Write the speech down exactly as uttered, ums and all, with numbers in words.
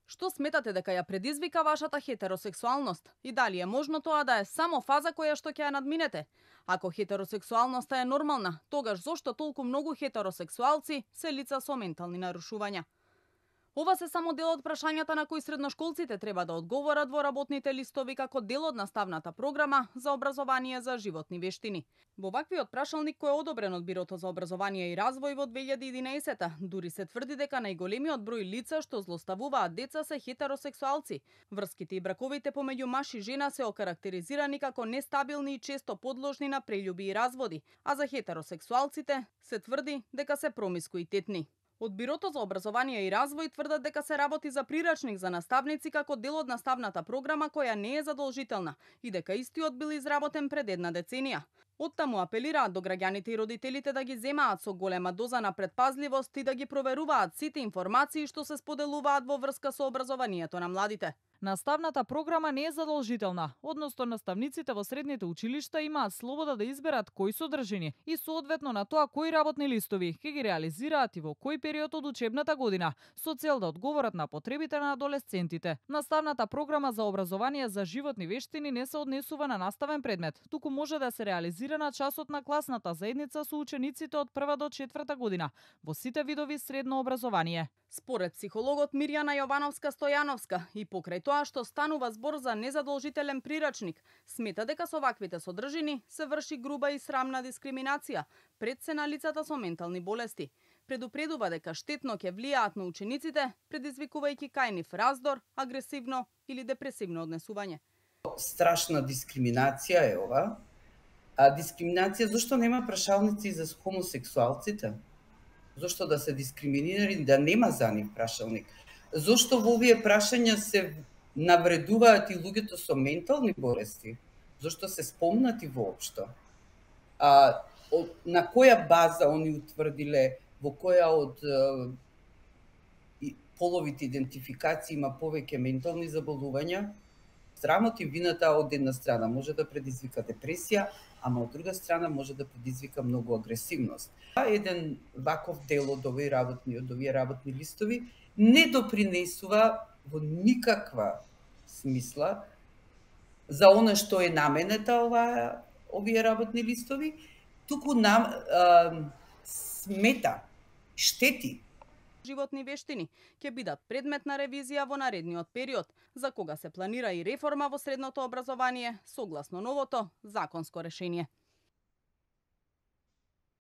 Што сметате дека ја предизвика вашата хетеросексуалност? И дали е можно тоа да е само фаза која што ќе ја надминете? Ако хетеросексуалноста е нормална, тогаш зошто толку многу хетеросексуалци се лица со ментални нарушувања? Ова се само дел од прашањата на кои средношколците треба да одговорат во работните листови како дел од наставната програма за образование за животни вештини. Во ваквиот прашалник кој е одобрен од Бирото за образование и развој во две илјади и единаесета, дури се тврди дека најголемиот број лица што злоставуваат деца се хетеросексуалци. Врските и браковите помеѓу маж и жена се окарактеризирани како нестабилни и често подложни на прељуби и разводи, а за хетеросексуалците се тврди дека се промискуитетни. Од Бирото за образование и развој тврдат дека се работи за прирачник за наставници како дел од наставната програма која не е задолжителна и дека истиот бил изработен пред една деценија. Оттаму апелираат до граѓаните и родителите да ги земаат со голема доза на предпазливост и да ги проверуваат сите информации што се споделуваат во врска со образованието на младите. Наставната програма не е задолжителна, односно наставниците во средните училишта имаат слобода да изберат кои содржини и соодветно на тоа кои работни листови ќе ги реализираат и во кој период од учебната година, со цел да одговорат на потребите на адолесцентите. Наставната програма за образование за животни вештини не се однесува на наставен предмет, туку може да се реализира на часот на класната заедница со учениците од прва до четврта година во сите видови средно образование. Според психологот Мирјана Јовановска-Стојановска и покрај тоа што станува збор за незадолжителен прирачник, смета дека со ваквите содржини се врши груба и срамна дискриминација пред се на лицата со ментални болести. Предупредува дека штетно ќе влијаат на учениците, предизвикувајќи кај нив раздор, агресивно или депресивно однесување. Страшна дискриминација е ова. А дискриминација зашто нема прашалници за хомосексуалците? Зошто да се дискриминирани, да нема за нив прашалник? Зошто во овие прашања се навредуваат и луѓето со ментални болести? Зошто се спомнати воопшто? А, од, на која база они утврдиле во која од е, половите идентификации има повеќе ментални заболувања? Срамот и вината од една страна може да предизвика депресија, ама од друга страна може да предизвика многу агресивност. А еден ваков дел од овие работни, од овие работни листови не допринесува во никаква смисла за она што е наменета ова, овие работни листови, туку нам а, смета, штети. Животни вештини ќе бидат предмет на ревизија во наредниот период, за кога се планира и реформа во средното образование согласно новото законско решение.